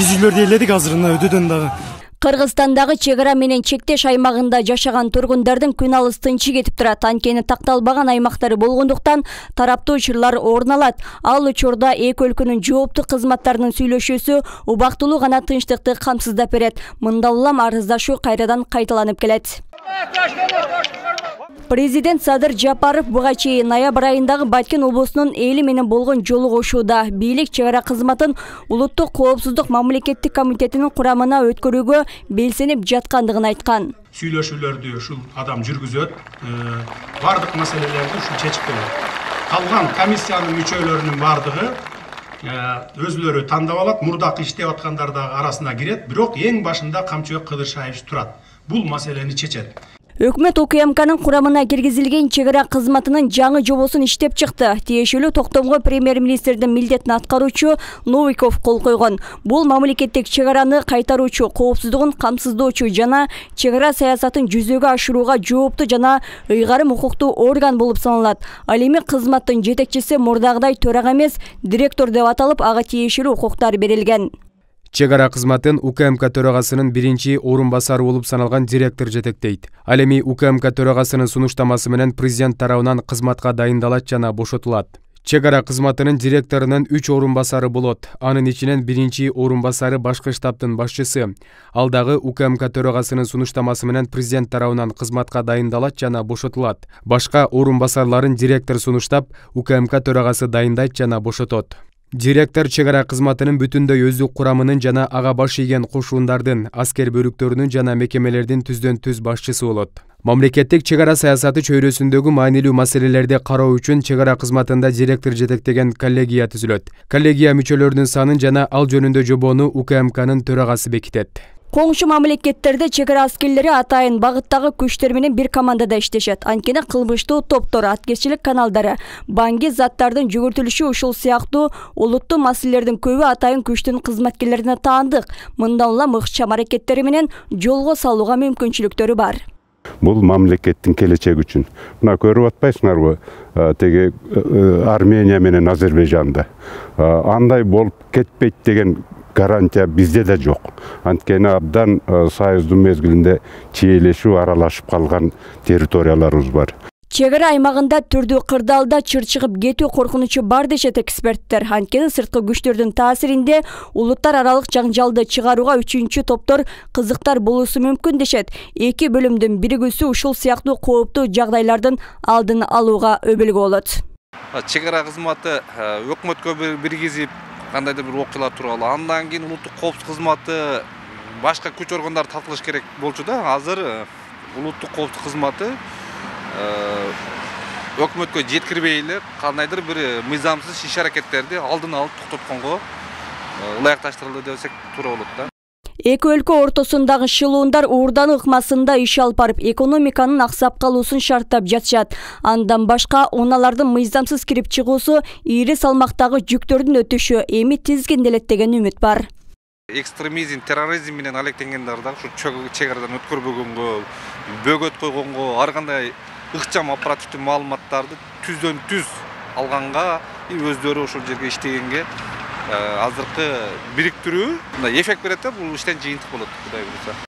Биз үйлөрдү ээледик азыр өдөдөн дагы. Кыргызстандагы чек ара менен чектеш аймагында жашаган тургундардын күн алыс тынчы кетип турат. Анткени такталбаган аймактары болгондуктан тараптуу учурлар орун алат. Ал учурда эки өлкөнүн жооптуу кызматтарынын сүйлөшүүсү убактылуу гана тынчтыкты камсыздап берет. Мында улам арыздашуу кайрадан кайталанып келет. Президент Садыр Жапаров буга чейин ноябрь айындагы Баткен облусунун эли менен болгон жолугушууда бийлик чек ара кызматын улуттук коопсуздук мамлекеттик комитетинин курамына өткөрүүгө белсенип жаткандыгын айткан. Сүйлөшүүлөрдү ушул адам жүргүзөт, бардык маселелерди ушул чечип берет. Калган комиссиянын мүчөлөрүнүн бардыгы өзүлөрү тандап алат, мурдакы иштеп аткандар да арасына кирет, бирок эң башында Камчыбек Кыдыршаевич турат. Бул маселени чечет. Өкмөт УКМКнын курамына киргизилген чек ара кызматынын жаңы жобосун иштеп чыкты. Тиешелүү токтомго премьер-министрдин милдетин аткаруучу Новиков кол койгон. Бул мамлекеттик чек араны кайтаруучу, коопсуздугун камсыздоочу жана чек ара саясатын жүзөгө ашырууга жооптуу жана ыйгарым укуктуу орган болуп саналат. Ал эми кызматтын жетекчиси мурдагыдай төрага эмес, директор деп аталып, ага тиешелүү укуктар берилген. Чек ара кызматын УКМК төрагасынын биринчи орун басары болуп саналган директор жетектейт. Ал эми УКМК төрагасынын сунуштамасы менен президент тарабынан кызматка дайындалат жана бошотулат. Чек ара кызматынын директорунун 3 орун басары болот. Анын ичинен биринчи орун басары башкы штабтын башчысы. Ал дагы УКМК төрагасынын сунуштамасы менен президент тарабынан кызматка дайындалат жана бошотулат. Башка орун басарларын директор сунуштап, УКМК төрагасы дайындайт жана бошотот. Директор чек ара кызматынын бүтүндөй өздүк курамынын жана ага баш ийген кошуундардын, аскер бөлүктөрүнүн жана мекемелердин түздөн-түз башчысы болот. Мамлекеттик чек ара саясаты чөйрөсүндөгү маанилүү маселелерди кароо үчүн чек ара кызматында директор жетектеген коллегия түзүлөт. Коллегия мүчөлөрүнүн санын жана ал жөнүндө жобону УКМКнын төрагасы бекитет. Коңшу мамлекеттерде чек ара аскерлери атайын багыттагы күчтөр менен бир командада иштешет. Анткени кылмыштуу топтор, аткерчилик каналдары, банги заттардын жүгүртүлүшү ушул сыяктуу улуттуу маселелердин көбү атайын күчтүн кызматкерлерине таандык. Мындан улам ыкчам аракеттери менен жолго салууга мүмкүнчүлүктөрү бар. Бул мамлекеттин келечеги үчүн. Мына көрүп атпайсыңарбы, теги Армения менен Азербайжанда. Андай болуп кетпейт деген гарантия бизде да жок. Анткени абдан союздун мезгилинде чиелешип, аралашып калган территорияларыбыз бар. Чек ара аймагында түрдүү кырдаалда чыр чыгып кетүү коркунучу бар дешет эксперттер. Анткени сырткы күчтөрдүн таасиринде улуттар аралык жаңжалды чыгарууга үчүнчү топтор кызыктар болуусу мүмкүн дешет. Эки бөлүмдүн биригүүсү ушул сыяктуу кооптуу жагдайлардын алдын алууга өбөлгө болот. Чек ара кызматы өкмөткө биргизип кандайдыр бир окуялар тууралуу, андан кийин улуттук коопсуздук кызматы башка күч органдары тартылыш керек болчу да. Азыр улуттук коопсуздук кызматы өкмөткө жеткирбей эле кандайдыр бир мыйзамсыз иш аракеттерди алдын алып токтотконго ылайыкташтырылды десек туура болот да. Эки өлкө ортосундагы шылуундар уурдан ыкмасында иш алып барып, экономиканын аксап калуусун шарттап жатышат. Андан башка унаалардын мыйзамсыз кирип чыгуусу, ири салмактагы жүктөрдүн өтүшү эми тизгинделет деген үмүт бар. Экстремизм, терроризм менен алектенгендер дагы ушу чек арадан өткөрбөгөнгө, бөгөт койгонго, ар кандай ыкчам оперативдүү маалыматтарды түздөн-түз алганга, өздөрү ошол жерге иштегенге азыркы бириктирүү эффект берет да, бул иштен жыйынтык болот, Кудай буйруса.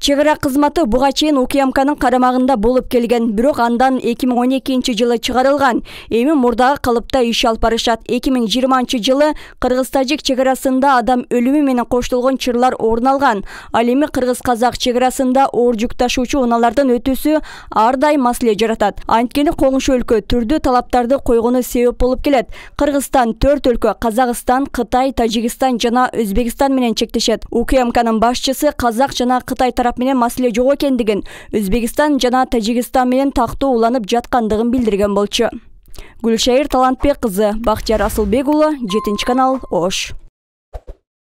Чек ара кызматы буга чейин УКМКнын карамагында болуп келген, бирок андан 2012-жылы чыгарылган. Эми мурдагы калыпта иш алып барышат. 2020-жылы Кыргыз-Тажик чек арасында адам өлүмү менен коштолгон чырлар орун алган. Ал эми Кыргыз-Казак чек арасында оор жүк ташуучу унаалардын өтүүсү ар дайым маселе жаратат. Анткени коңшу өлкө түрдүү талаптарды койгону себеп болуп келет. Кыргызстан 4 өлкө — Казакстан, Кытай, Тажикстан жана Өзбекстан менен чектешет. УКМКнын башчысы Казак жана Кытай тарап менен маселе жок экендигин, Өзбекстан жана Тажикстан менен тактоо уланып жаткандыгын билдирген болчу. Гүлшайыр Талантбек кызы, Бактияр Асылбек уулу, 7 канал, Ош.